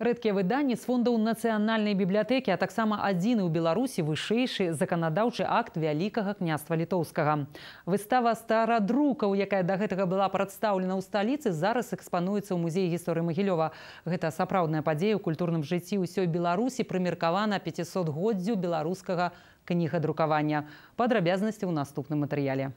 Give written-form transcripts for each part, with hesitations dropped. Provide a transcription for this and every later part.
Рэдкія выданні з фондаў нацыянальнай бібліятэкі, а таксама адзіны ў Беларусі вышэйшы заканадаўчы акт Вялікага княства літоўскага. Выстава старадрукаў, якая да гэтага была прадстаўлена ў сталіцы, зараз экспануецца ў музеі гісторыі Магілёва. Гэта сапраўдная падзея ў культурным жыцці ўсёй Беларусі, прымеркавана 500-годдзю беларускага кнігадрукавання. Падрабязнасці ў наступным матэрыяле.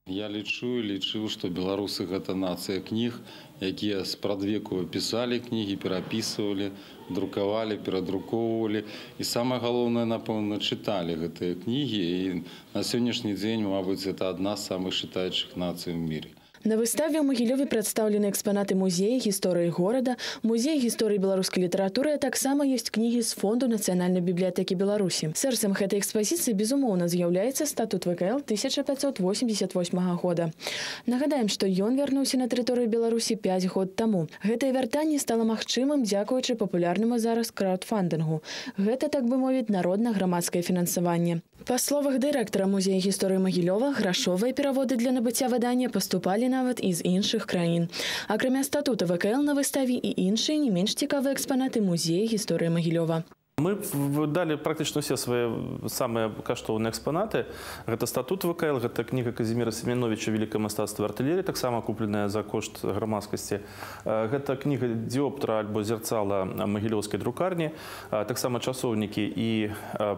Я лічыў, што беларусы гэта нацыя кніг, якія спрадвеку пісалі кнігі, перапісвалі, друкавалі, перадрукоўвалі. І самае галоўнае, напэўна, чыталі гэтыя кнігі. І на сённяшні дзень, мабыць, гэта адна з самых чытаючых нацый у міры. На выставе ў Магілёве прадстаўлены экспанаты музея гісторыі горада, музея гісторыі беларускай літаратуры, а таксама ёсць кнігі з фонду Нацыянальнай бібліятэкі Беларусі. Сэрцам гэтай экспазіцыі, безумоўна, з'яўляецца статут ВКЛ 1588 года. Нагадаем, што ён вярнуўся на тэрыторыю Беларусі 5 год таму. Гэтае вяртанне стала магчымым дзякуючы папулярнаму зараз краудфандынгу. Гэта, так бы мовіць, народна-грамадскае фінансаванне. Па словах дырэктара музея гісторыі Магілёва, грашовыя пераводы для набыцця выдання паступалі нават і з іншых краін. Акрамя статута ВКЛ на выставе і іншыя не менш цікавыя экспанаты музея гісторыі Магілёва. Мы выдали практично все свои самые каштоўныя экспонаты. Это статут ВКЛ, это книга Казимира Семеновича «Великое мастацтва артиллерии», так само купленная за кошт громадскости. Это книга диоптра альбо зерцала Могилевской друкарни, так само часовники и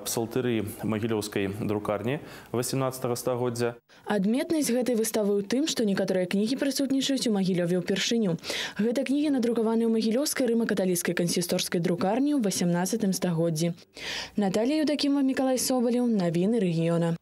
псалтыры Могилевской друкарни 18 стагоддзя. Адметнасць гэтай выставы ў тым, што некаторыя кнігі прысутнічаюць у Магілёве ўпершыню. Гэта кнігі надрукаваныя ў Магілёўскай рыма-каталіцкай кансісторскай друкарні ў 18 стагоддзі. Наталія Юдакімова, Мікалай Собалеў. Навіны рэгіёна.